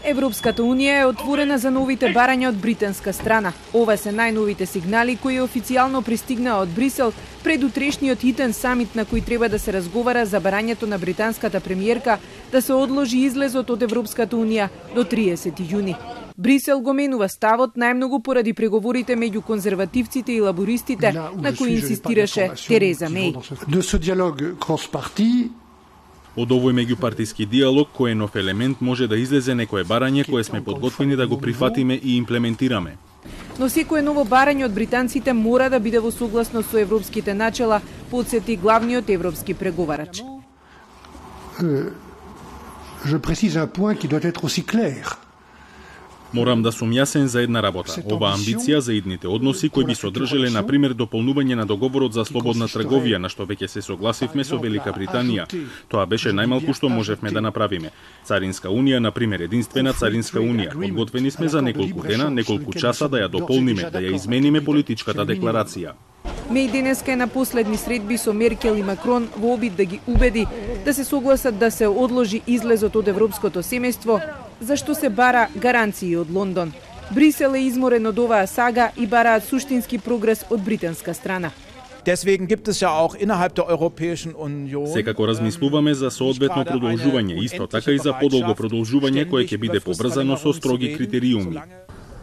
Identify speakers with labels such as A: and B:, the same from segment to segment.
A: Европската унија е отворена за новите барања од британска страна. Ова се најновите сигнали кои официјално пристигнаа од Брисел пред утрешниот хитен самит на кој треба да се разговара за барањето на британската премиерка да се одложи излезот од Европската унија до 30 јуни. Брисел го менува ставот најмногу поради преговорите меѓу конзервативците и лабористите на кои инсистираше Тереза Меј.
B: Од овој меѓупартиски диалог, кој е нов елемент, може да излезе некое барање кое сме подготвени да го прифатиме и имплементираме.
A: Но секое ново барање од британците мора да биде во согласност со европските начела, потсети главниот европски преговарач.
C: Je précise un point qui doit être aussi clair.
B: Морам да сум јасен за една работа. Ова амбиција за идните односи кои би содржале на пример дополнување на договорот за слободна трговија, на што веќе се согласивме со Велика Британија. Тоа беше најмалку што можевме да направиме. Царинска унија, на пример, единствена царинска унија. Подготвени сме за неколку дена, неколку часа да ја дополниме, да ја измениме политичката декларација.
A: Меј денеска е на последни средби со Меркел и Макрон во обид да ги убеди да се согласат да се одложи излезот од европското семејство, зашто се бара гаранции од Лондон. Брисел е изморен од оваа сага и бараат суштински прогрес од британска страна.
D: Deswegen gibt es ja auch innerhalb der Europäischen Union.
B: Секако размислуваме за соодветно продолжување, исто така и за подолго продолжување кое ќе биде побрзано со строги критериуми.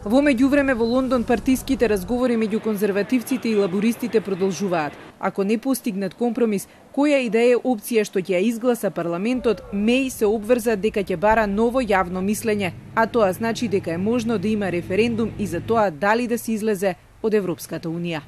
A: Во меѓувреме во Лондон партиските разговори меѓу конзервативците и лабористите продолжуваат. Ако не постигнат компромис, која и да е опција што ќе ја изгласа парламентот, Меј се обврза дека ќе бара ново јавно мислење, а тоа значи дека е можно да има референдум и за тоа дали да се излезе од Европската унија.